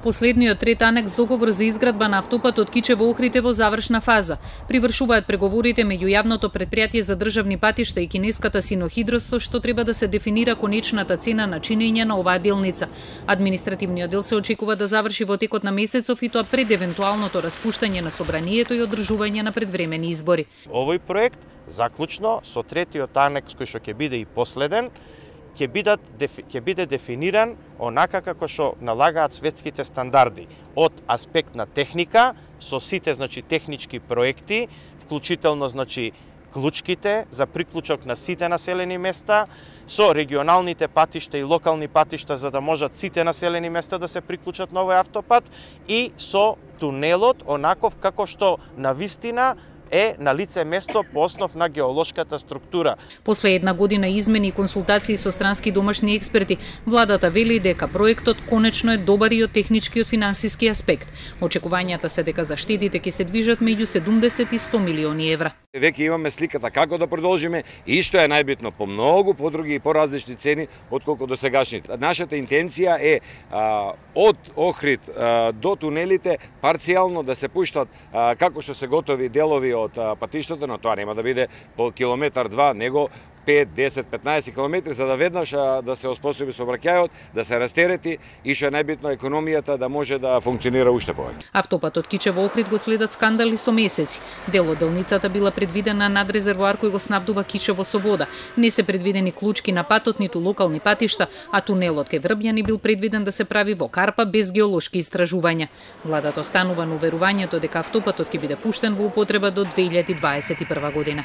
Последниот трет анекс договор за изградба на автопатот Кичево-Охрид е во завршна фаза. Привршуваат преговорите меѓу јавното претпријатие за државни патишта и кинеската Синохидросто, што треба да се дефинира конечната цена на чинење на оваа делница. Административниот дел се очекува да заврши во текот на месецов, и тоа пред евентуалното распуштање на собранието и одржување на предвремени избори. Овој проект заклучно со третиот анекс кој што ќе биде и последен, ќе биде дефиниран онака како што налагаат светските стандарди од аспект на техника, со сите технички проекти, вклучително клучките за приклучок на сите населени места, со регионалните патишта и локални патишта за да можат сите населени места да се приклучат на овој автопат, и со тунелот онаков како што навистина е на лице место по основ на геолошката структура. После една година измени и консултации со странски домашни експерти, владата вели дека проектот конечно е добар и од технички и од финансиски аспект. Очекувањата се дека заштедите ќе се движат меѓу 70 и 100 милиони евра. Веќе имаме сликата како да продолжиме и што е најбитно по многу подруги и поразлични цени отколку до сегашните. Нашата интенција е од Охрид до тунелите парцијално да се пуштат како што се готови делови од патиштата, но тоа нема да биде по километар-два, него 5, 10, 15 километри, за да веднаш да се оспособи сообраќајот, да се растерети и што е најбитно економијата да може да функционира уште повеќе. Автопатот Кичево-Охрид го следат скандали со месеци. Дел од делницата била предвидена над резервоар кој го снабдува Кичево со вода. Не се предвидени клучки на патот, ниту локални патишта, а тунелот кај Врбјани бил предвиден да се прави во карпа без геолошки истражувања. Владата останува на уверувањето дека автопатот ќе биде пуштен во употреба до 2021 година.